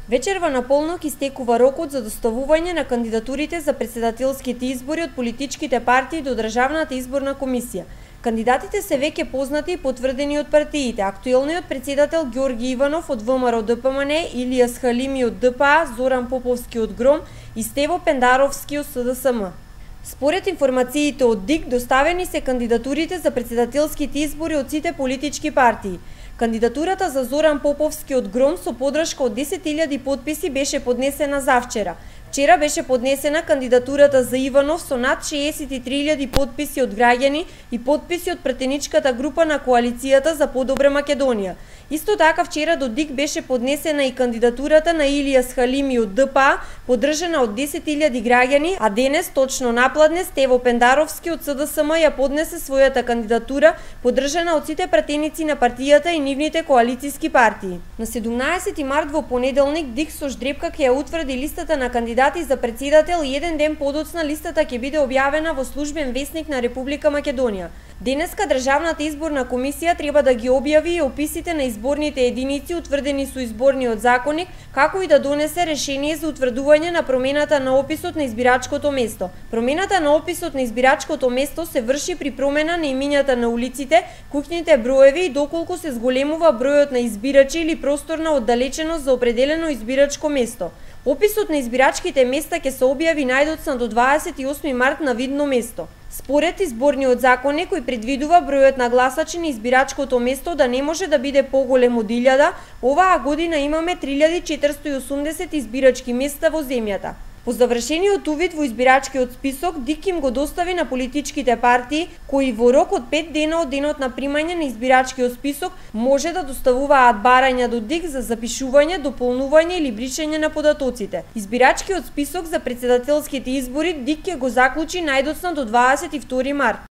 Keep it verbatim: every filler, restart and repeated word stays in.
Вечерва на полнок истекува рокот за доставување на кандидатурите за претседателските избори од политичките партии до Државната изборна комисија. Кандидатите се веќе познати и потврдени од партиите. Актуелниот претседател Ѓорги Иванов од ВМРО Д П М Н, Илијас Халими од Д П А, Зоран Поповски од ГРОМ и Стево Пендаровски од С Д С М. Според информациите од ДИК, доставени се кандидатурите за претседателските избори од сите политички партии. Кандидатурата за Зоран Поповски од ГРОМ со подршка од десет илјади потписи беше поднесена завчера. Вчера беше поднесена кандидатурата за Иванов со над шеесет и три илјади потписи од граѓани и потписи од претеничката група на коалицијата за подобра Македонија. Исто така вчера до ДИК беше поднесена и кандидатурата на Илијас Халими од Д П А, поддржана од десет илјади граѓани, а денес точно напладне Стево Пендаровски од С Д С М ја поднесе својата кандидатура, поддржана од сите пратеници на партијата и нивните коалицијски партии. На седумнаесети март во понеделник ДИК со ждрепка ќе ја утврди листата на кандидати за претседател и еден ден подоцна листата ќе биде објавена во службен весник на Република Македонија. Денеска Државната изборна комисија треба да ги објави и описите на изборните единици утврдени со изборниот законник, како и да донесе решение за утврдување на промената на описот на избирачкото место. Промената на описот на избирачкото место се врши при промена на имињата на улиците, куќните броеви и доколку се зголемува бројот на избирачи или просторна оддалеченост за определено избирачко место. Описот на избирачките места ќе се објави најдоцна до дваесет и осми март на видно место. Според изборниот законник, кој предвидува бројот на гласачи на избирачкото место да не може да биде поголем од илјада, оваа година имаме три илјади четиристотини и осумдесет избирачки места во земјата. По завршениот увид во избирачкиот список, ДИК им го достави на политичките партии, кои во рок од пет дена од денот на примање на избирачкиот список може да доставуваат барања до ДИК за запишување, дополнување или бришење на податоците. Избирачкиот список за претседателските избори ДИК ќе го заклучи најдоцна до дваесет и втори март.